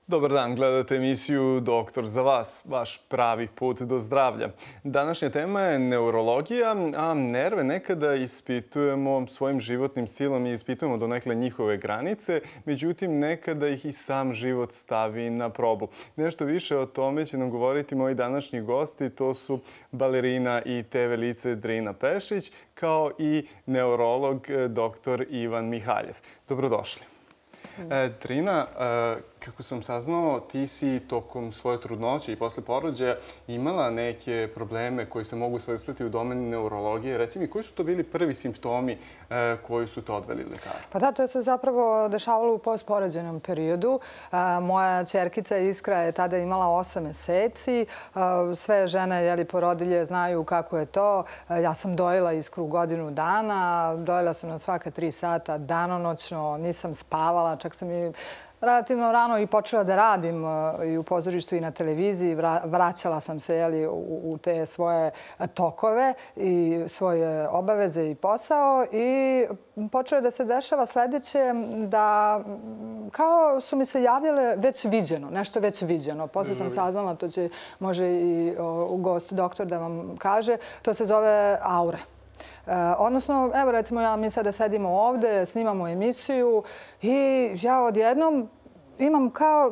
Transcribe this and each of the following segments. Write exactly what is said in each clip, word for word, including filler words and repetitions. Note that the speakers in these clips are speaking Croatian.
Dobar dan, gledate emisiju Doktor za vas, vaš pravi put do zdravlja. Današnja tema je neurologija, a nerve nekada ispitujemo svojim životnim silom i ispitujemo donekle njihove granice, međutim nekada ih i sam život stavi na probu. Nešto više o tome će nam govoriti moji današnji gosti, to su balerina i te ve lice Drina Pešić, kao i neurolog doktor Ivan Mihaljev. Dobrodošli. Drina, kako sam saznao, ti si tokom svoje trudnoće i posle porođaja imala neke probleme koji se mogu svrstati u domenu neurologije. Reci mi, koji su to bili prvi simptomi koji su te odveli lekaru? Pa da, to se zapravo dešavalo u postporođajnom periodu. Moja ćerkica Iskra je tada imala osam meseci. Sve žene porodilje znaju kako je to. Ja sam dojila Iskru godinu dana. Dojila sam na svaka tri sata danonoćno. Nisam spavala. Čak sam i relativno rano i počela da radim i u pozorištu i na televiziji. Vraćala sam se u te svoje tokove i svoje obaveze i posao i počelo da se dešava sledeće, da kao su mi se javljale već viđeno, nešto već viđeno. Posle sam saznala, to će može i gost doktor da vam kaže, to se zove aure. Odnosno, evo recimo, ja mi sada sedimo ovde, snimamo emisiju i ja odjednom imam kao,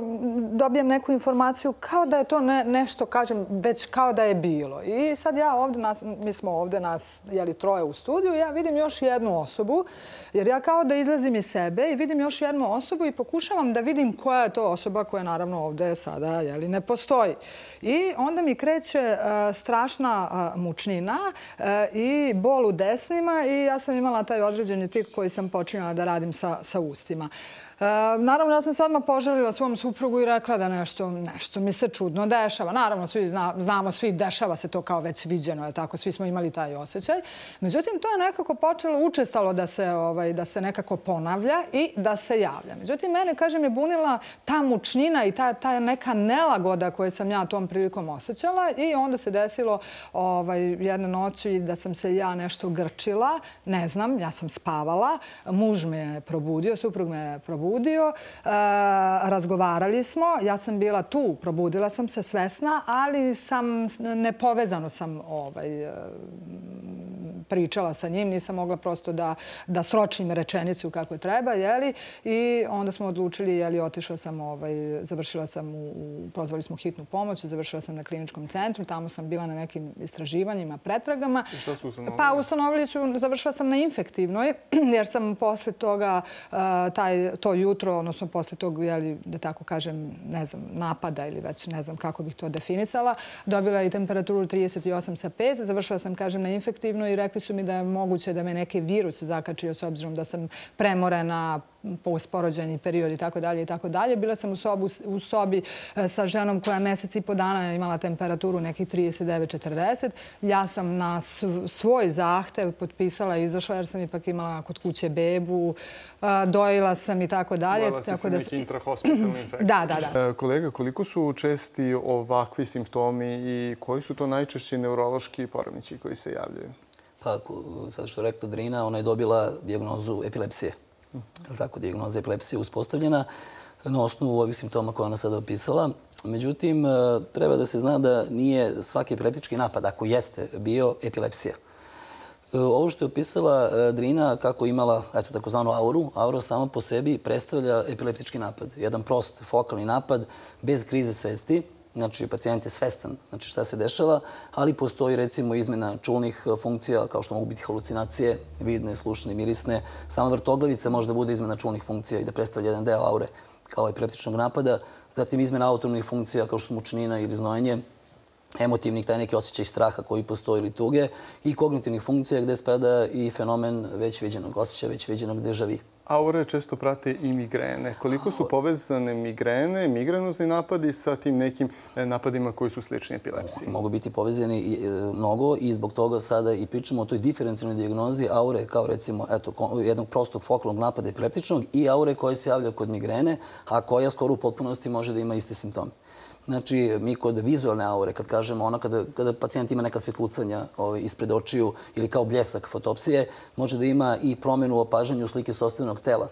dobijem neku informaciju kao da je to nešto, kažem, već kao da je bilo. I sad ja ovde, mi smo ovde nas, jeli, troje u studiju, ja vidim još jednu osobu, jer ja kao da izlazim iz sebe i vidim još jednu osobu i pokušavam da vidim koja je to osoba koja naravno ovde sada, jeli, ne postoji. I onda mi kreće strašna mučnina i bol u desnima i ja sam imala taj određeni tik koji sam počinjala da radim sa ustima. Naravno, ja sam se odmah požalila svom suprugu i rekla da nešto mi se čudno dešava. Naravno, znamo svi, dešava se to kao već viđeno, tako, svi smo imali taj osjećaj. Međutim, to je nekako počelo učestalo da se nekako ponavlja i da se javlja. Međutim, mene, kažem, je bunila ta mučnina i ta neka nelagoda koju sam ja tom prilikom osjećala i onda se desilo jedne noći da sam se ja nešto grčila. Ne znam, ja sam spavala, muž me je probudio, suprug me je probudio. Probudio, razgovarali smo, ja sam bila tu, probudila sam se svesna, ali sam nepovezano sam pričala sa njim, nisam mogla prosto da sročim rečenicu kako treba, jeli, i onda smo odlučili, jeli, otišla sam, završila sam, pozvali smo hitnu pomoć, završila sam na kliničkom centru, tamo sam bila na nekim istraživanjima, pretragama. I šta su ustanovili? Pa ustanovili su, završila sam na infektivnoj, jer sam posle toga, to jutro, odnosno posle tog, jeli, da tako kažem, ne znam, napada ili već ne znam kako bih to definisala, dobila i temperaturu trideset osam sa pet, završila sam, kažem, na infektivnoj i rekli su mi da je moguće da me neki virus zakačio s obzirom da sam premorena, postporođajni period i tako dalje i tako dalje. Bila sam u sobi sa ženom koja mesec i po dana imala temperaturu nekih trideset devet četrdeset. Ja sam na svoj zahtev potpisala i izašla jer sam ipak imala kod kuće bebu, dojila sam i tako dalje. Imala si se neki intrahospitalni infekciji. Da, da, da. Kolega, koliko su česti ovakvi simptomi i koji su to najčešći neurološki poremećaji koji se javljaju? Pa, sad što je rekla Drina, ona je dobila dijagnozu epilepsije. Tako, dijagnoza epilepsije uspostavljena na osnovu ovih simptoma koje ona sada opisala. Međutim, treba da se zna da nije svaki epileptički napad, ako jeste, bio epilepsija. Ovo što je opisala Drina, kako imala takozvanu auru, aura sama po sebi predstavlja epileptički napad. Jedan prost fokalni napad bez krize svesti. Znači, pacijent je svestan šta se dešava, ali postoji recimo izmena čulnih funkcija, kao što mogu biti halucinacije, vidne, slušne, mirisne. Sama vrtoglavica može da bude izmena čulnih funkcija i da predstavlja jedan deo aure kao epileptičnog napada. Zatim izmena autonomnih funkcija, kao što su mučnina ili znojenje, emotivnih, taj neki osjećaj straha koji postoji ili tuge, i kognitivnih funkcija gde spada i fenomen već viđenog osjećaja, već viđenog deja-vu. Aure često prate i migrene. Koliko su povezane migrene, migrenozni napadi sa tim nekim napadima koji su slični epilepsiji? Mogu biti povezani mnogo i zbog toga sada i pričamo o toj diferencijalnoj dijagnozi aure kao recimo jednog prostog fokalnog napada epileptičnog i aure koja se javlja kod migrene, a koja skoro u potpunosti može da ima iste simptome. Znači, mi kod vizualne aure, kad kažemo ono kada pacijent ima neka svjetlucanja ispred očiju ili kao bljesak fotopsije, može da ima i promjenu u opažanju slike sopstvenog tela.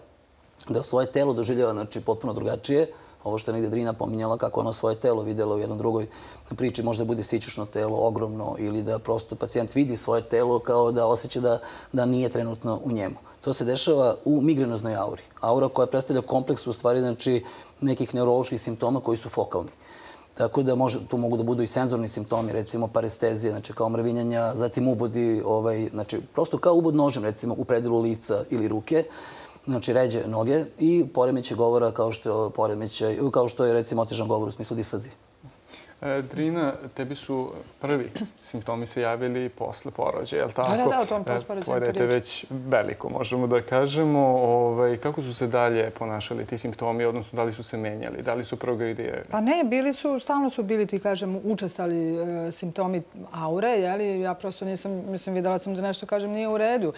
Da svoje telo doživljava potpuno drugačije ovo što je negdje Drina pominjala, kako ono svoje telo vidjela u jednom drugoj priči, možda bude sićušno telo, ogromno, ili da prosto pacijent vidi svoje telo kao da osjeća da, da nije trenutno u njemu. To se dešava u migrenoznoj auri. Aura koja predstavlja kompleks u stvari znači, nekih neuroloških simptoma koji su fokalni. Tako da može, tu mogu da budu i senzorni simptomi, recimo parestezije, znači kao mrvinjanja, zatim ubodi, ovaj, znači prosto kao ubod nožem, recimo u predilu lica ili ruke, znači ređe noge i poremećaj govora kao što, poremećaj, kao što je recimo otežan govor u smislu disfazije. Drina, tebi su prvi simptomi se javili posle porođaja, je li tako? Da, da, da, u tom postporođajnom Tvoje dete je već veliko, možemo da kažemo. Kako su se dalje ponašali ti simptomi, odnosno da li su se menjali, da li su progredijeli? Pa ne, bili su, stalno su bili ti, kažem, učestali simptomi aure, jeli? Ja prosto nisam, mislim, videla sam da nešto, kažem, nije u redu.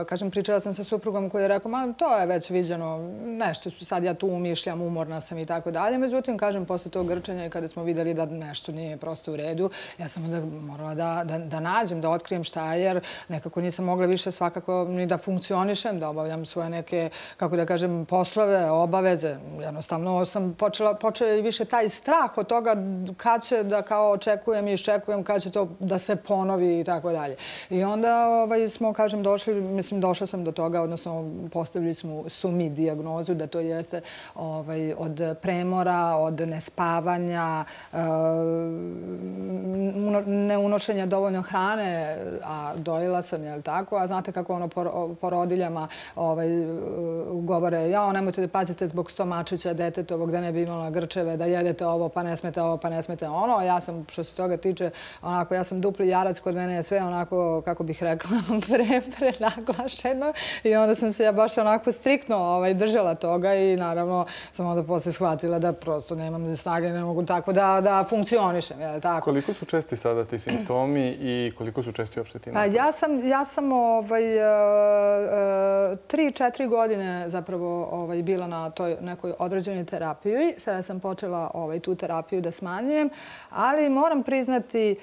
Kažem, pričala sam sa suprugom koji je rekao, ma to je već viđeno, nešto, sad ja tu umišljam, umorna sam i tako dalje. Međutim, kažem, posle tog grčanja i kada smo vidjeli da nešto nije prosto u redu, ja sam onda morala da, da, da nađem, da otkrijem šta je, jer nekako nisam mogla više svakako ni da funkcionišem, da obavljam svoje neke, kako da kažem, poslove, obaveze. Jednostavno sam počela, počela i više taj strah od toga kad će da kao očekujem i iščekujem, kad će to da se ponovi i tako dalje. I onda ovaj, smo, kažem, došli, mislim, došla sam do toga, odnosno postavili smo su mi dijagnozu da to jeste ovaj, od premora, od nespavanja, neunošenja dovoljno hrane, a dojela sam, je li tako? A znate kako ono porodiljama ovaj, govore, jao, nemojte da pazite zbog stomačića detetovog, da ne bi imala grčeve, da jedete ovo, pa ne smete ovo, pa ne smete ono. Ja sam, što se toga tiče, onako, ja sam dupli jarac, kod mene je sve onako, kako bih rekla, pre, prenaglašeno. I onda sam se ja baš onako striktno ovaj, držala toga i naravno sam onda posle shvatila da prosto nemam snage, ne mogu tako da, da funkcionišem, je li tako? Koliko su česti sada ti simptomi i koliko su česti uopšte ti napadi? Ja sam, ja sam ovaj, tri, četiri godine zapravo ovaj, bila na toj nekoj određenoj terapiji. Sada sam počela ovaj, tu terapiju da smanjujem, ali moram priznati,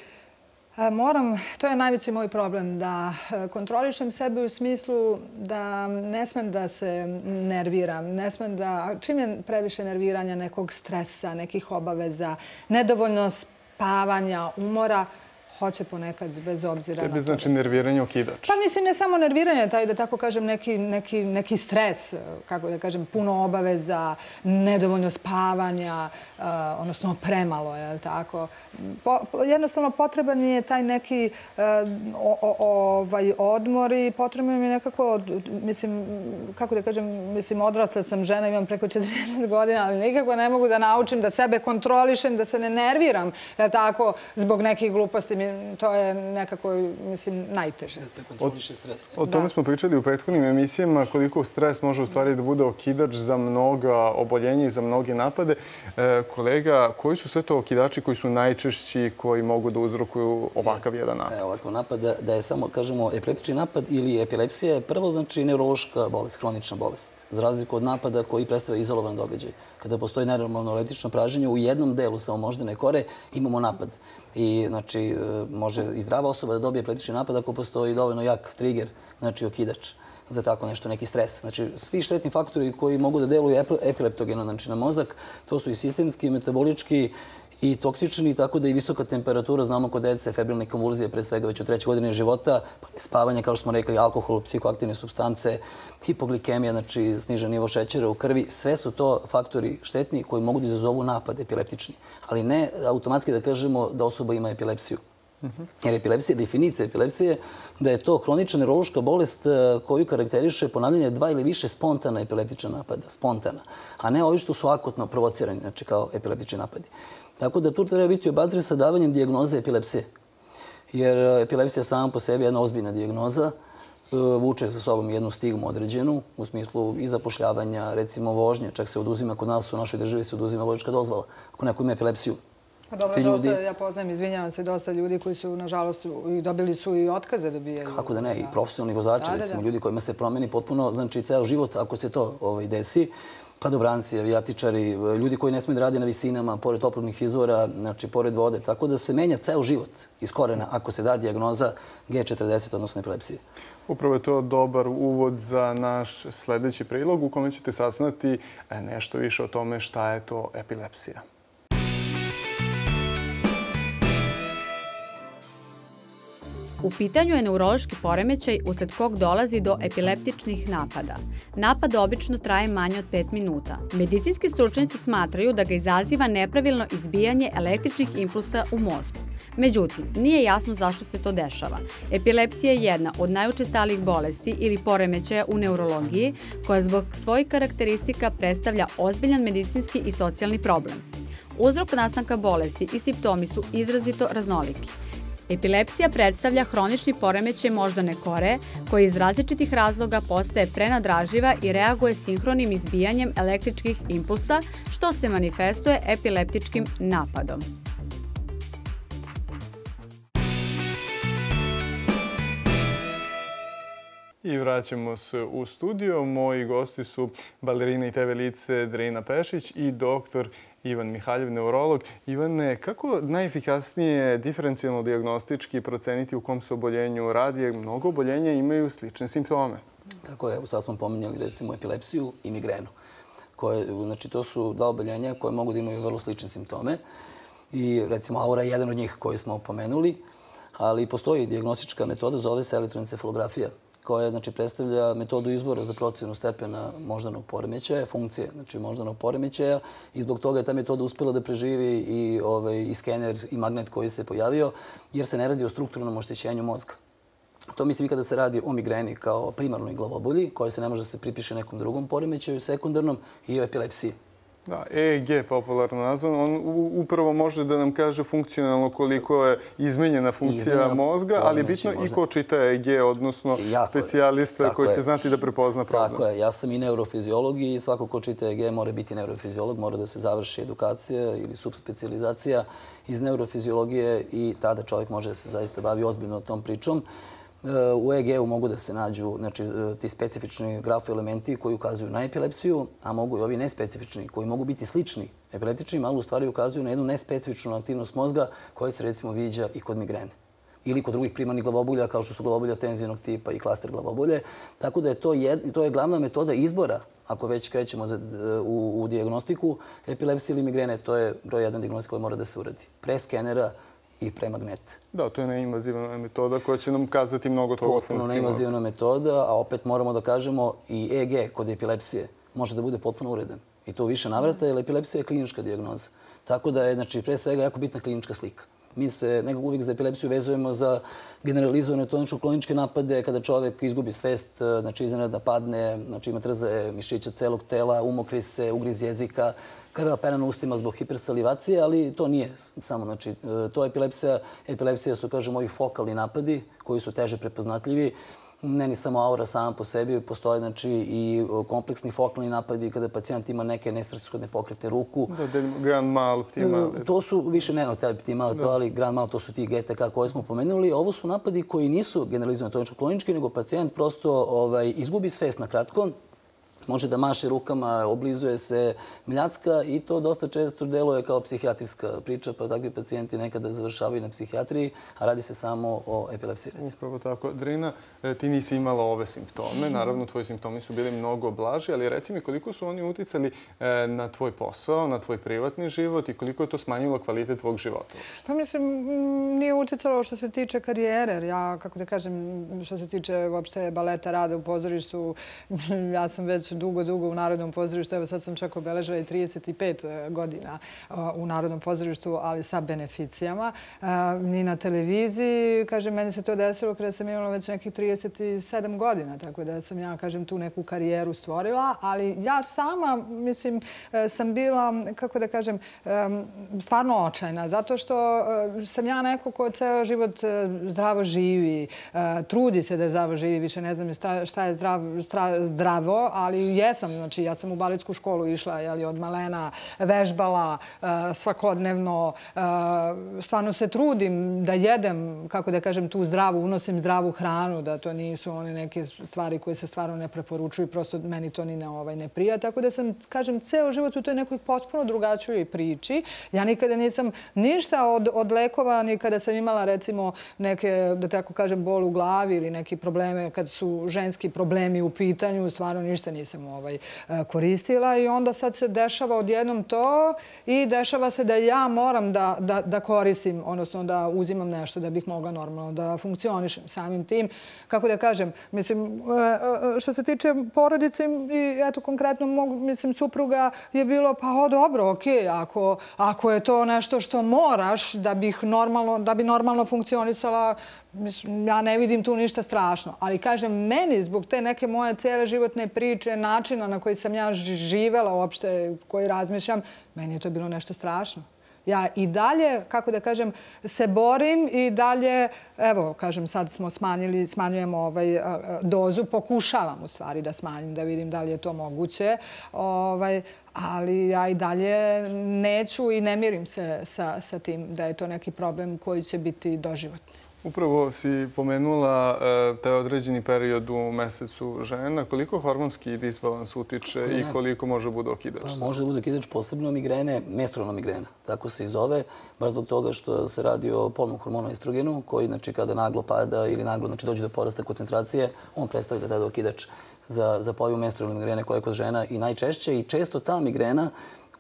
moram, to je najveći moj problem, da kontrolišem sebe u smislu da ne smem da se nerviram, ne smem da, čim je previše nerviranja, nekog stresa, nekih obaveza, nedovoljno spavanja, umora, hoće ponekad bez obzira na to. Tebi znači nerviranje okidač? Pa mislim ne samo nerviranje, taj da tako kažem neki, neki, neki stres, kako da kažem, puno obaveza, nedovoljno spavanja, uh, odnosno premalo, je li tako? Po, po, jednostavno potreban mi je taj neki uh, o, o, ovaj odmor i potreban mi je nekako, mislim, kako da kažem, mislim, odrasla sam žena, imam preko četrdeset godina, ali nikako ne mogu da naučim da sebe kontrolišem, da se ne nerviram, je li tako, zbog nekih gluposti. To je nekako, mislim, najteže. Da se kontroliše stres. O tome smo pričali u prethodnim emisijama, koliko stres može u stvari da bude okidač za mnoga oboljenja i za mnoge napade. E, kolega, koji su sve to okidači koji su najčešći, koji mogu da uzrokuju ovakav Jest. jedan napad? E, ovakav napad, da, da je samo, kažemo, epileptični napad ili epilepsija je prvo, znači, neurološka bolest, hronična bolest. Za razliku od napada koji predstavlja izolovan događaj. Kada postoji nenormalno električno praženje, u jednom delu samo moždane kore imamo napad. I, znači, može i zdrava osoba da dobije epileptični napad ako postoji dovoljno jak trigger, znači okidač za tako nešto, neki stres. Znači, svi štetni faktori koji mogu da deluju epileptogeno, znači na mozak, to su i sistemski, metabolički i toksični, tako da i visoka temperatura, znamo kod dece, febrilne konvulzije, pre svega već u trećoj godini života, pa spavanje, kao što smo rekli, alkohol, psihoaktivne supstance, hipoglikemija, znači snižen nivo šećera u krvi, sve su to faktori štetni koji mogu da izazovu napad epileptični, ali ne automatski da kažemo da osoba ima epilepsiju. Jer epilepsija, definicija epilepsije, da je to hronična neurološka bolest koju karakteriše ponavljanje dva ili više spontana epileptična napada, spontana, a ne ovi što su akutno provocirani, znači kao epileptični napadi. Tako da tu treba biti obazriv sa davanjem dijagnoze epilepsije. Jer epilepsija sama po sebi je jedna ozbiljna dijagnoza, vuče sa sobom jednu stigmu određenu, u smislu i zapošljavanja, recimo vožnje, čak se oduzima, kod nas u našoj državi se oduzima vozačka dozvola, ako neko ima epilepsiju. Pa dobro, ljudi... dosta, ja poznajem, izvinjavam se, dosta ljudi koji su, nažalost, dobili su i otkaze dobijaju. Kako da ne, i profesionalni vozači, da, recimo, da, da. Ljudi kojima se promeni potpuno, znači, ceo život, ako se to ovaj, desi. padobranci, avijatičari, ljudi koji ne smiju da rade na visinama, pored toplotnih izvora, znači pored vode. Tako da se menja ceo život iz korena ako se da dijagnoza G četrdeset, odnosno epilepsije. Upravo je to dobar uvod za naš sljedeći prilog u kome ćete saznati nešto više o tome šta je to epilepsija. U pitanju je neurološki poremećaj usled kog dolazi do epileptičnih napada. Napad obično traje manje od pet minuta. Medicinski stručnjaci smatraju da ga izaziva nepravilno izbijanje električnih impulsa u mozgu. Međutim, nije jasno zašto se to dešava. Epilepsija je jedna od najučestalijih bolesti ili poremećaja u neurologiji, koja zbog svojih karakteristika predstavlja ozbiljan medicinski i socijalni problem. Uzrok nastanka bolesti i simptomi su izrazito raznoliki. Epilepsija predstavlja hronični poremećaj moždane kore koji iz različitih razloga postaje prenadraživa i reaguje sinhronim izbijanjem električkih impulsa, što se manifestuje epileptičkim napadom. I vraćamo se u studio. Moji gosti su balerina i te ve lice Drina Pešić i doktor Ivan Mihaljev, neurolog. Ivane, kako najefikasnije diferencijalno dijagnostički proceniti u kom se oboljenju radi, jer mnogo oboljenja imaju slične simptome? Tako je, sad smo pominjali recimo epilepsiju i migrenu. Znači, to su dva oboljenja koje mogu da imaju vrlo slične simptome. I recimo aura je jedan od njih koji smo pomenuli, ali postoji dijagnostička metoda, zove se elektroencefalografija, koja znači, predstavlja metodu izbora za procjenu stepena moždanog poremećaja, funkcije znači, moždanog poremećaja i zbog toga je ta metoda uspjela da preživi i, ovaj, i skener i magnet koji se pojavio, jer se ne radi o strukturnom oštećenju mozga. To mislim i kada se radi o migreni kao primarnoj glavobolji, koja se ne može da se pripiše nekom drugom poremećaju, sekundarnom, i o epilepsiji. Da, E E G, popularno nazvan, on upravo može da nam kaže funkcionalno koliko je izmenjena funkcija mozga, ali je bitno i ko čita E E G, odnosno specijalista koji će znati da prepozna problem. Tako je, ja sam i neurofiziolog i svako ko čita E E G mora biti neurofiziolog, mora da se završi edukacija ili subspecializacija iz neurofiziologije i tada čovjek može da se zaista bavi ozbiljno tom pričom. U E E G-u mogu da se nađu znači, ti specifični grafoelementi koji ukazuju na epilepsiju, a mogu i ovi nespecifični koji mogu biti slični epileptičnim, ali u stvari ukazuju na jednu nespecifičnu aktivnost mozga koja se recimo viđa i kod migrene ili kod drugih primarnih glavobolja kao što su glavobolja tenzijnog tipa i klaster glavobolje. Tako da je to, jed, to je glavna metoda izbora, ako već krećemo za, u, u dijagnostiku epilepsije ili migrene, to je broj jedan dijagnostik koji mora da se uradi. Pre skenera i pre magneta. Da, to je neinvazivna metoda koja će nam kazati mnogo toga o funkciji mozga. Potpuno neinvazivna metoda, a opet moramo da kažemo i E E G kod epilepsije može da bude potpuno uredan. I to u više navrata, jer epilepsija je klinička dijagnoza. Tako da je, znači, pre svega jako bitna klinička slika. Mi se nekako uvijek za epilepsiju vezujemo za generalizovane tonično-kloničke napade, kada čovjek izgubi svest, znači iznenada padne, znači ima trzaje mišića celog tela, umokri se, ugriz jezika, krva pera na ustima zbog hipersalivacije, ali to nije samo, znači, to je epilepsija. Epilepsija su, kažemo, ovi fokalni napadi koji su teže prepoznatljivi. Ne ni samo aura sama po sebi, postoje znači, i kompleksni fokalni napadi kada pacijent ima neke nesvrsishodne pokrete ruku. Da, grand mal, ptimal. To su više ne od ptimal, to, ali grand mal to su ti G T K koje smo pomenuli. Ovo su napadi koji nisu generalizovani tonično-klonički, nego pacijent prosto ovaj, izgubi svest na kratko. Može da maše rukama, oblizuje se mljacka i to dosta često deluje kao psihijatrijska priča, pa takvi pacijenti nekada završavaju na psihijatriji, a radi se samo o epilepsiji. Upravo tako. Drina, ti nisi imala ove simptome. Naravno, tvoji simptomi su bili mnogo blaži, ali reci mi koliko su oni uticali na tvoj posao, na tvoj privatni život i koliko je to smanjilo kvalitet tvog života? Što mislim, nije uticalo što se tiče karijere, jer ja, kako da kažem, što se tiče uopšte baleta, rada u pozorištu, ja sam već dugo, dugo u Narodnom pozorištu. Evo sad sam čak obeležila i trideset pet godina u Narodnom pozorištu, ali sa beneficijama. Ni na televiziji, kažem, meni se to desilo kada sam imala već nekih trideset sedam godina, tako da sam ja, kažem, tu neku karijeru stvorila, ali ja sama, mislim, sam bila, kako da kažem, stvarno očajna, zato što sam ja neko ko ceo život zdravo živi, trudi se da zdravo živi, više ne znam šta je zdravo, ali jesam, znači ja sam u baletsku školu išla, jeli, od malena, vežbala svakodnevno, stvarno se trudim da jedem, kako da kažem, tu zdravu, unosim zdravu hranu, da to nisu one neke stvari koje se stvarno ne preporučuju, prosto meni to ni ne, ovaj, ne prija. Tako da sam, kažem, ceo život u toj nekoj potpuno drugačijoj priči. Ja nikada nisam ništa od, od lekova, ni kada sam imala, recimo, neke, da tako kažem, bol u glavi ili neki probleme, kad su ženski problemi u pitanju, stvarno ništa nisam ovaj, koristila i onda sad se dešava odjednom to i dešava se da ja moram da, da, da koristim, odnosno da uzimam nešto da bih mogla normalno da funkcionišem samim tim. Kako da kažem, mislim, što se tiče porodice i eto konkretno mog, mislim, supruga je bilo pa o dobro, okej, ako, ako je to nešto što moraš da bih normalno, da bi normalno funkcionisala, mislim, ja ne vidim tu ništa strašno. Ali kažem, meni zbog te neke moje cijele životne priče, načina na koji sam ja živela uopšte, koji razmišljam, meni je to bilo nešto strašno. Ja i dalje, kako da kažem, se borim i dalje, evo, kažem, sad smo smanjili, smanjujemo ovaj, dozu, pokušavam u stvari da smanjim, da vidim da li je to moguće, ovaj, ali ja i dalje neću i ne mirim se sa, sa tim da je to neki problem koji će biti doživotni. Upravo si pomenula taj određeni period u mesecu žena. Koliko hormonski disbalans utiče i koliko može bude okidač? Pa, može da bude okidač posebno migrene, menstrualna migrena. Tako se i zove, baš zbog toga što se radi o polnom hormonu estrogenu, koji, znači, kada naglo pada ili naglo, znači, dođe do porasta koncentracije, on predstavlja tada okidač za, za pojavu menstrualne migrene koja je kod žena i najčešće. I često ta migrena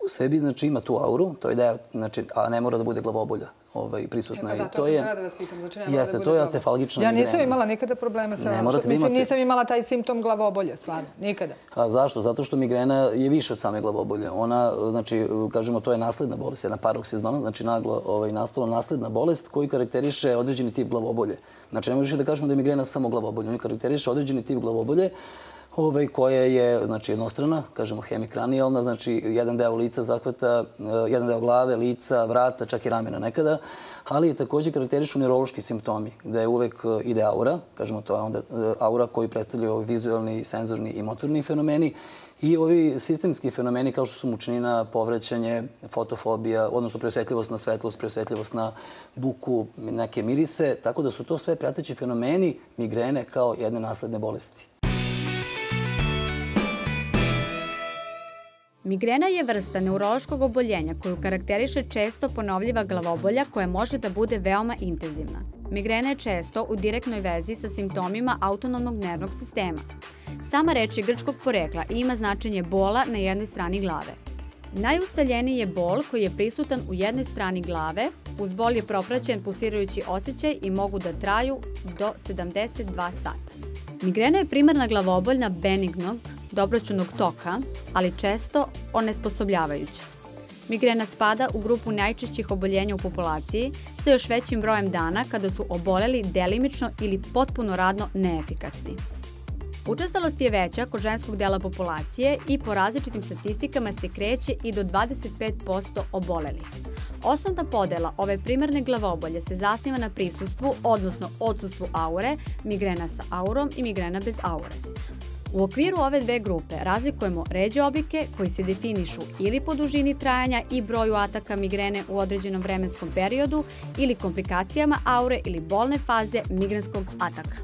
u sebi, znači, ima tu auru, to je da, znači, a ne mora da bude glavobolja. Ovaj, prisutna. E, pa da, to, to je, da vas pitam. Znači, ne jeste, da to je acefalgična migrena. Ja nisam imala nikada problema sa... Ne morate Mislim, imati. nisam imala taj simptom glavobolje, stvarno. Nikada. A zašto? Zato što migrena je više od same glavobolje. Ona, znači, kažemo, to je nasledna bolest, jedna paroksizmalna, znači naglo ovaj, nastala nasledna bolest koji karakteriše određeni tip glavobolje. Znači, ne možeš da kažemo da je migrena samo glavobolje. Oni karakteriše određeni tip glavobolje Ove, koja je, znači, jednostrana, kažemo hemikranijalna, znači jedan deo lica zahvata, jedan deo glave, lica, vrata, čak i ramena nekada, ali također karakterišu neurološki simptomi, gde uvek ide aura, kažemo to je onda aura koji predstavljaju vizualni, senzorni i motorni fenomeni i ovi sistemski fenomeni kao što su mučnina, povraćanje, fotofobija, odnosno preosjetljivost na svetlost, preosjetljivost na buku, neke mirise, tako da su to sve prateći fenomeni migrene kao jedne nasledne bolesti. Migrena je vrsta neurološkog oboljenja koju karakteriše često ponovljiva glavobolja koja može da bude veoma intenzivna. Migrena je često u direktnoj vezi sa simptomima autonomnog nervnog sistema. Sama reč je grčkog porekla i ima značenje bola na jednoj strani glave. Najustaljeniji je bol koji je prisutan u jednoj strani glave, uz bol je propraćen pulsirajući osjećaj i mogu da traju do sedamdeset dva sata. Migrena je primarna glavoboljna benignog, dobroćudnog toka, ali često onesposobljavajuća. Migrena spada u grupu najčešćih oboljenja u populaciji sa još većim brojem dana kada su oboleli delimično ili potpuno radno neefikasni. Učestalost je veća kod ženskog dela populacije i po različitim statistikama se kreće i do dvadeset pet posto obolelih. Osnovna podela ove primarne glavobolje se zasniva na prisustvu, odnosno odsustvu aure, migrena sa aurom i migrena bez aure. U okviru ove dve grupe razlikujemo ređe oblike koji se definišu ili po dužini trajanja i broju ataka migrene u određenom vremenskom periodu ili komplikacijama aure ili bolne faze migrenskog ataka.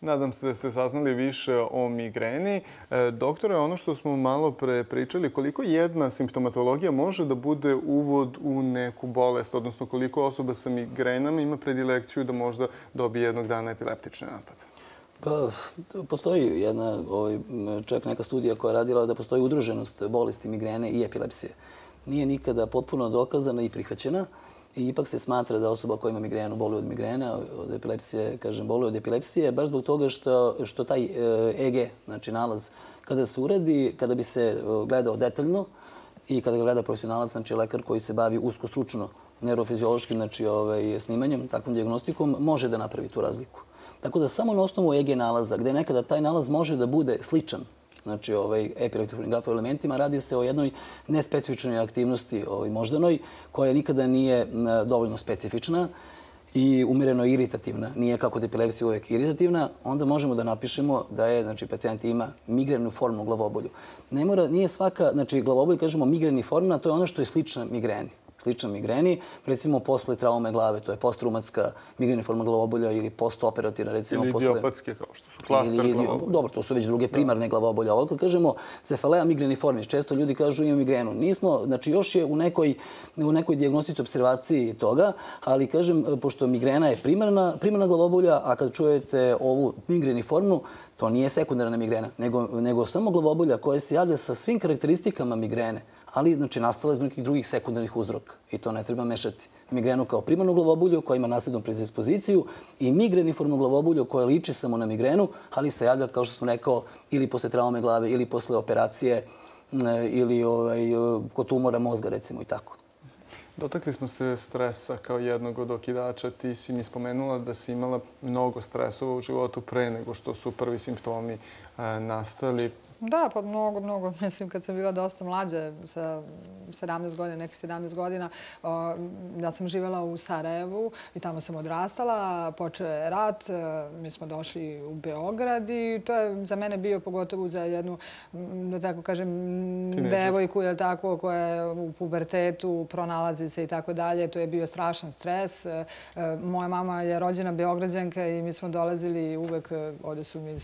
Nadam se da ste saznali više o migreni. Doktore, ono što smo malo pre pričali, koliko jedna simptomatologija može da bude uvod u neku bolest, odnosno koliko osoba sa migrenama ima predilekciju da možda dobije jednog dana epileptični napad? Pa, postoji jedna, ovaj, čak neka studija koja je radila da postoji udruženost bolesti migrene i epilepsije. Nije nikada potpuno dokazana i prihvaćena. I ipak se smatra da osoba koja ima migrenu boluje od migrene, od epilepsije, kažem, boluje od epilepsije, baš zbog toga što, što taj E G, znači nalaz, kada se uradi, kada bi se gledao detaljno i kada ga gleda profesionalac, znači lekar koji se bavi usko stručno neurofiziološkim, znači, ovaj, snimanjem, takvom dijagnostikom, može da napravi tu razliku. Tako da samo na osnovu E G nalaza, gde nekada taj nalaz može da bude sličan, znači ovaj, epileptičnim grafoelementima, radi se o jednoj nespecifičnoj aktivnosti ovaj, moždanoj, koja nikada nije dovoljno specifična i umereno iritativna, nije kao kod epilepsije uvek iritativna, onda možemo da napišemo da je, znači, pacijent ima migrenu formu glavobolju. Ne mora, nije svaka, znači, glavobolj, kažemo migreniformna, to je ono što je slična migreni. Slična migreni, recimo posle traume glave, to je postraumatska migreniforma glavobolja ili postoperativna, recimo ili posle... Ili idiopatske, kao što su klaster glavobolja. Dobro, to su već druge primarne glavobolje, ali kad kažemo cefalea migreniformis, često ljudi kažu imam migrenu. Nismo, znači još je u nekoj, u nekoj dijagnostici observaciji toga, ali kažem, pošto migrena je primarna, primarna glavobolja, a kad čujete ovu migreniformnu, to nije sekundarna migrena, nego, nego samo glavobolja koja se javlja sa svim karakteristikama migrene, ali znači nastala iz nekih drugih sekundarnih uzroka. I to ne treba mešati. Migrenu kao primarnu glavobolju koja ima nasljednu predispoziciju i migreniformnu glavobolju koja liči samo na migrenu, ali se javlja, kao što sam rekao, ili posle traume glave, ili posle operacije, ili ovaj, kod tumora mozga, recimo, i tako. Dotakli smo se stresa kao jednog od okidača. Ti si mi spomenula da si imala mnogo stresova u životu pre nego što su prvi simptomi nastali. Da, pa mnogo, mnogo. Mislim, kad sam bila dosta mlađa, sa sedamnaest godina, nekih sedamnaest godina, ja sam živjela u Sarajevu i tamo sam odrastala. Počeo je rat, mi smo došli u Beograd i to je za mene bio, pogotovo za jednu, da tako kažem, devojku, je tako, koja je u pubertetu, pronalazi se i tako dalje. To je bio strašan stres. Moja mama je rođena Beograđanka i mi smo dolazili uvek, ovdje su mi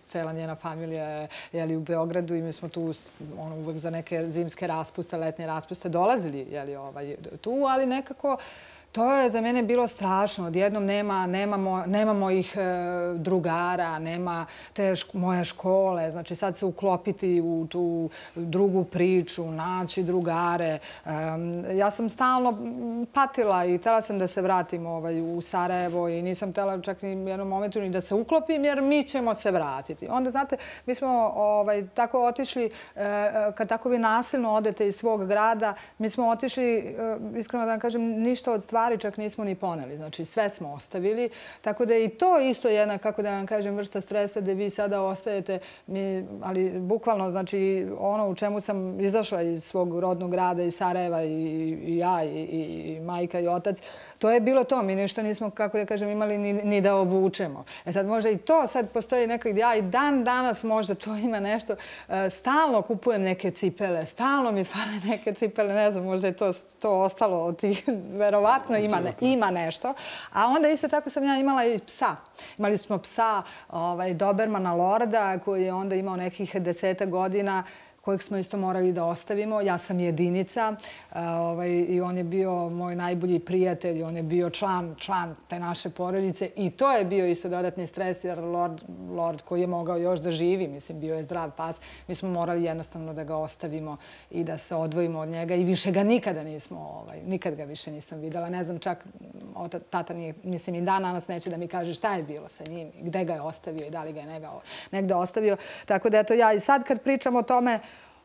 cela njena familija, jeli, u Beogradu i mi smo tu ono, uvek za neke zimske raspuste, letnje raspuste dolazili jeli, ovaj, tu, ali nekako to je za mene bilo strašno. Odjednom nema, nemamo, nemamo ih e, drugara, nema te šk moje škole. Znači sad se uklopiti u tu drugu priču, naći drugare. E, ja sam stalno patila i htjela sam da se vratim ovaj, u Sarajevo i nisam htjela čak ni u jednom momentu ni da se uklopim jer mi ćemo se vratiti. Onda, znate, mi smo ovaj, tako otišli, e, kad tako vi nasilno odete iz svog grada, mi smo otišli, e, iskreno da vam kažem, ništa od stvari čak nismo ni poneli. Znači, sve smo ostavili. Tako da je i to isto jedna, kako da vam kažem, vrsta stresa da vi sada ostajete, mi, ali bukvalno, znači, ono u čemu sam izašla iz svog rodnog grada, iz Sarajeva i, i ja, i, i, i majka i otac, to je bilo to. Mi ništa nismo, kako da kažem, imali ni, ni da obučemo. E sad možda i to, sad postoji nekak, ja i dan danas možda to ima nešto, stalno kupujem neke cipele, stalno mi fale neke cipele, ne znam, možda je to, to ostalo od tih, verovatno ima, ne, ima nešto. A onda isto tako sam ja imala i psa. Imali smo psa, ovaj, Dobermana Lorda, koji je onda imao nekih deseta godina, kojeg smo isto morali da ostavimo. Ja sam jedinica ovaj, i on je bio moj najbolji prijatelj, on je bio član, član te naše porodice i to je bio isto dodatni stres jer Lord, Lord koji je mogao još da živi, mislim, bio je zdrav pas, mi smo morali jednostavno da ga ostavimo i da se odvojimo od njega i više ga nikada nismo, ovaj, nikad ga više nisam videla. Ne znam, čak tata nije, mislim, i dan danas neće da mi kaže šta je bilo sa njim, gde ga je ostavio i da li ga je negde ostavio. Tako da eto ja i sad kad pričam o tome,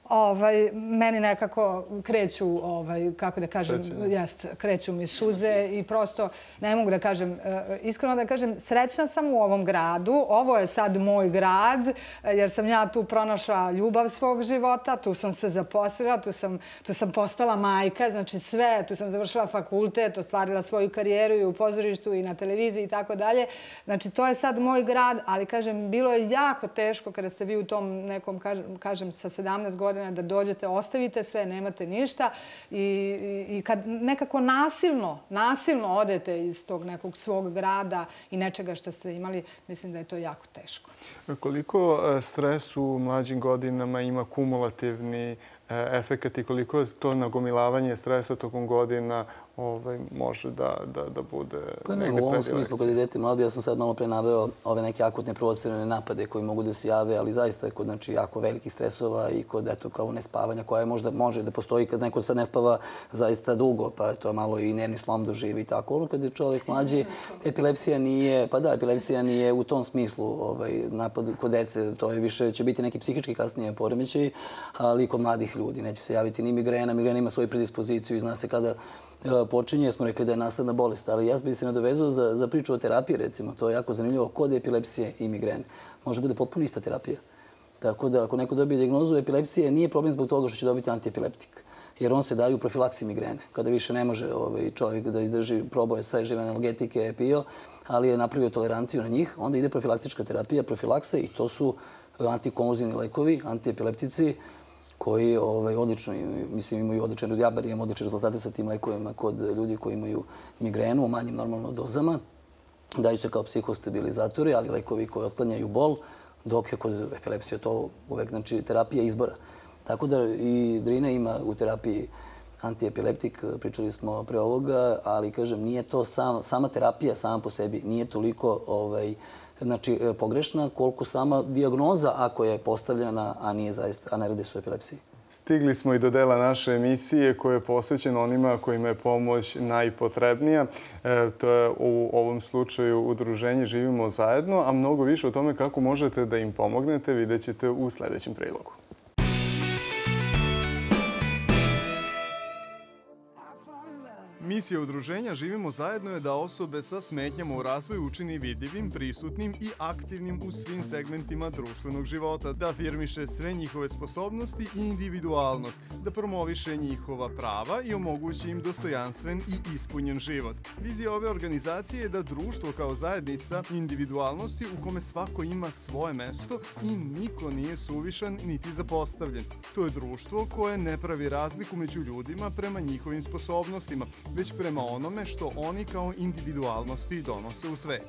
Ovaj, meni nekako kreću, ovaj, kako da kažem, jest, kreću mi suze i prosto ne mogu da kažem, iskreno da kažem, srećna sam u ovom gradu. Ovo je sad moj grad jer sam ja tu pronašla ljubav svog života, tu sam se zaposlila, tu sam, tu sam postala majka, znači sve, tu sam završila fakultet, ostvarila svoju karijeru i u pozorištu i na televiziji i tako dalje. Znači to je sad moj grad, ali kažem, bilo je jako teško kada ste vi u tom nekom, kažem, kažem sa sedamnaest godina da dođete, ostavite sve, nemate ništa i, i, i kad nekako nasilno, nasilno odete iz tog nekog svog grada i nečega što ste imali, mislim da je to jako teško. Koliko stres u mlađim godinama ima kumulativni efekat i koliko je to nagomilavanje stresa tokom godina ovaj, može da, da, da bude pa negde u ovom smislu, kad je dete mlado, ja sam sad malo pre naveo ove neke akutne provocirane napade koji mogu da se jave, ali zaista je kod znači, jako velikih stresova i kod eto, kao nespavanja koja možda može da postoji kad neko sad ne spava zaista dugo, pa to je malo i nervni slom doživi i tako. Ono kad je čovjek mlađi, epilepsija nije, pa da, epilepsija nije u tom smislu ovaj, napad kod dece, to je više, će biti neki psihički kasnije poremećaj, ali kod mladih ljudi neće se javiti ni migrena, migrena ima svoju predispoziciju i zna se kada počinje, smo rekli da je nasledna bolest, ali ja bih se nadovezao za, za priču o terapiji, recimo. To je jako zanimljivo kod epilepsije i migrene. Može bude potpuno ista terapija. Tako da ako neko dobije dijagnozu epilepsije, nije problem zbog toga što će dobiti antiepileptik. jer on se daje u profilaksiji migrene. Kada više ne može ovaj, čovjek da izdrži, probao je sve žive analgetike, je pio, ali je napravio toleranciju na njih, onda ide profilaktička terapija, profilakse i to su antikonvulzivni lekovi, antiepileptici, koji ovaj, odlično, mislim, imaju odlične, ja bar imam odlične rezultate sa tim lekovima kod ljudi koji imaju migrenu u manjim normalno dozama. Daju se kao psihostabilizatori, ali lekovi koji otklanjaju bol, dok je kod epilepsije to uvek znači, terapija izbora. Tako da i Drina ima u terapiji antiepileptik, pričali smo pre ovoga, ali kažem, nije to sam, sama terapija sama po sebi, nije toliko ovaj, znači, pogrešna koliko sama dijagnoza ako je postavljena, a nije zaista, a ne radi se o epilepsiji. Stigli smo i do dela naše emisije koja je posvećena onima kojima je pomoć najpotrebnija. E, to je u ovom slučaju udruženje Živimo zajedno, a mnogo više o tome kako možete da im pomognete vidjet ćete u sljedećem prilogu. Misija udruženja Živimo zajedno je da osobe sa smetnjama u razvoju učini vidljivim, prisutnim i aktivnim u svim segmentima društvenog života, da afirmiše sve njihove sposobnosti i individualnost, da promoviše njihova prava i omogući im dostojanstven i ispunjen život. Vizija ove organizacije je da društvo kao zajednica individualnosti u kome svako ima svoje mesto i niko nije suvišan niti zapostavljen. To je društvo koje ne pravi razliku među ljudima prema njihovim sposobnostima, već prema onome što oni kao individualnosti donose u svet.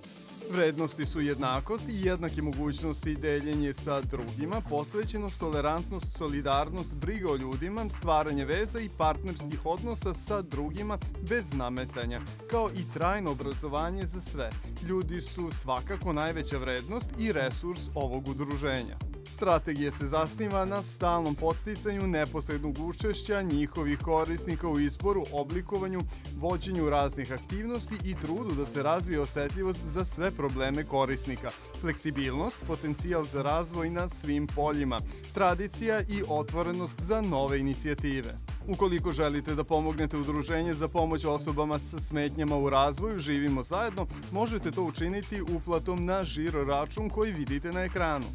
Vrednosti su jednakost i jednake mogućnosti, deljenje sa drugima, posvećenost, tolerantnost, solidarnost, briga o ljudima, stvaranje veza i partnerskih odnosa sa drugima bez nametanja, kao i trajno obrazovanje za sve. Ljudi su svakako najveća vrednost i resurs ovog udruženja. Strategija se zasniva na stalnom podsticanju neposrednog učešća njihovih korisnika u izboru, oblikovanju, vođenju raznih aktivnosti i trudu da se razvije osetljivost za sve probleme korisnika, fleksibilnost, potencijal za razvoj na svim poljima, tradicija i otvorenost za nove inicijative. Ukoliko želite da pomognete udruženje za pomoć osobama sa smetnjama u razvoju Živimo zajedno, možete to učiniti uplatom na žiro račun koji vidite na ekranu.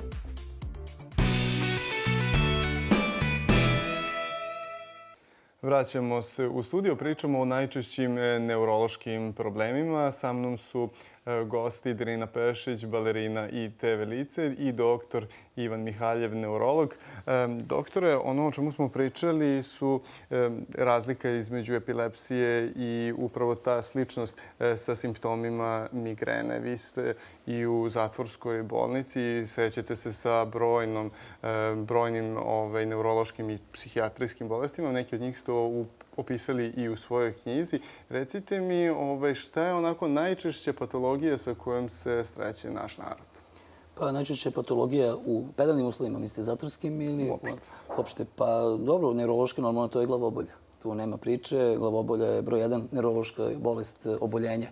Vraćamo se u studio, pričamo o najčešćim neurološkim problemima. Sa mnom su gosti Drina Pešić, balerina i te ve lice i doktor Ivan Mihaljev, neurolog. Doktore, ono o čemu smo pričali su razlika između epilepsije i upravo ta sličnost sa simptomima migrene. Vi ste i u zatvorskoj bolnici i sećate se sa brojnom, brojnim ovaj, neurološkim i psihijatrijskim bolestima. Neki od njih ste opisali i u svojoj knjizi. Recite mi ovaj, šta je onako najčešća patologija sa kojom se sreće naš narod? Pa najčešće patologija u pedalnim uslovima, mislite zatvorskim ili uopšte? Uopšte. Pa dobro, neurološki normalno to je glavobolja. Tu nema priče. Glavobolja je broj jedan neurološka bolest oboljenja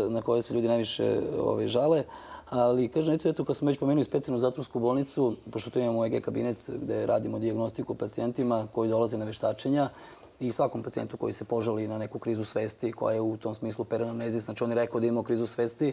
na koje se ljudi najviše ovaj, žale. Ali, kažem, recimo, eto, kad smo već pomenuli specijalnu zatvorsku bolnicu, pošto tu imamo E G kabinet gde radimo dijagnostiku pacijentima koji dolaze na veštačenja i svakom pacijentu koji se požali na neku krizu svesti koja je u tom smislu peranamnezija, znači on je rekao da ima krizu svesti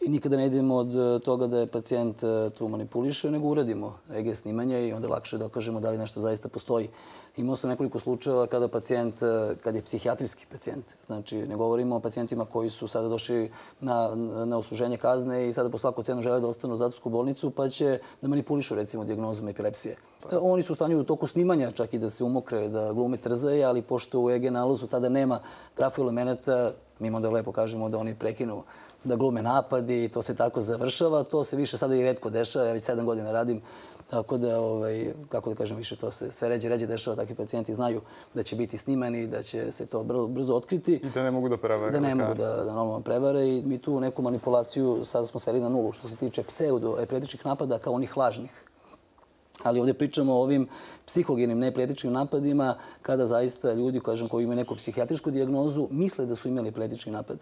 i nikada ne idemo od toga da je pacijent tu manipuliše, nego uradimo E G snimanje i onda lakše dokažemo da li nešto zaista postoji. Imao sam nekoliko slučajeva kada pacijent, kad je psihijatrijski pacijent, znači ne govorimo o pacijentima koji su sada došli na, na odsluženje kazne i sada po svaku cenu žele da ostanu u zatvorsku bolnicu pa će da manipulišu recimo dijagnozom epilepsije. Oni su u stanju u toku snimanja čak i da se umokre, da glume trzaje, ali pošto u E G nalazu tada nema grafoelemenata, mi onda lepo kažemo da oni prekinu da glume napadi i to se tako završava. To se više sada i retko dešava. Ja već sedam godina radim, tako da, ovaj, kako da kažem, više to se sve ređe, ređe dešava. Takvi pacijenti znaju da će biti snimani, da će se to brzo, brzo otkriti. I da ne mogu da prevare. Da ne mogu da, da normalno prevare i mi tu neku manipulaciju sada smo sveli na nulu što se tiče pseudo-epileptičkih napada kao onih lažnih. Ali ovdje pričamo o ovim psihogenim neepileptičkim napadima kada zaista ljudi kažem, koji imaju neku psihijatrijsku dijagnozu misle da su imali epileptički napad.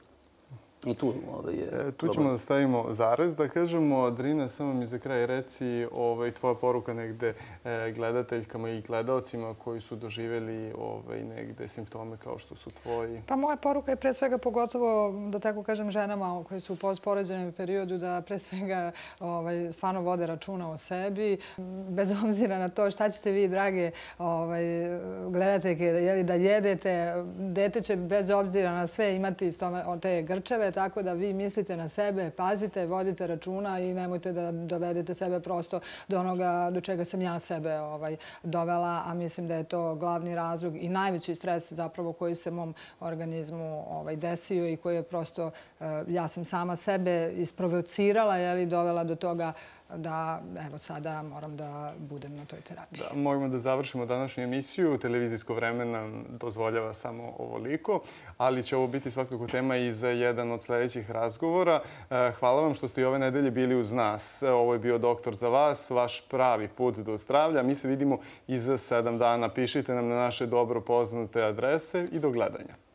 I tu ovaj, je E, tu problem. ćemo da stavimo zarez, da kažemo. Drina, samo mi za kraj reci ovaj, tvoja poruka negde e, gledateljkama i gledaocima koji su doživjeli ovaj, negde simptome kao što su tvoji. Pa moja poruka je pre svega pogotovo, da tako kažem, ženama koji su u postporođajnom periodu da pre svega ovaj, stvarno vode računa o sebi. Bez obzira na to šta ćete vi, drage ovaj, gledateljke, jeli, da jedete, dete će bez obzira na sve imati iz tome, te grčeve, tako da vi mislite na sebe, pazite, vodite računa i nemojte da dovedete sebe prosto do onoga do čega sam ja sebe ovaj, dovela, a mislim da je to glavni razlog i najveći stres zapravo koji se mom organizmu ovaj, desio i koji je prosto, ja sam sama sebe isprovocirala, jeli, dovela do toga da evo sada moram da budem na toj terapiji. Da, možemo da završimo današnju emisiju. Televizijsko vreme nam dozvoljava samo ovoliko, ali će ovo biti svakako tema i za jedan od sljedećih razgovora. Hvala vam što ste i ove nedelje bili uz nas. Ovo je bio Doktor za vas, vaš pravi put do zdravlja. Mi se vidimo i za sedam dana. Pišite nam na naše dobro poznate adrese i do gledanja.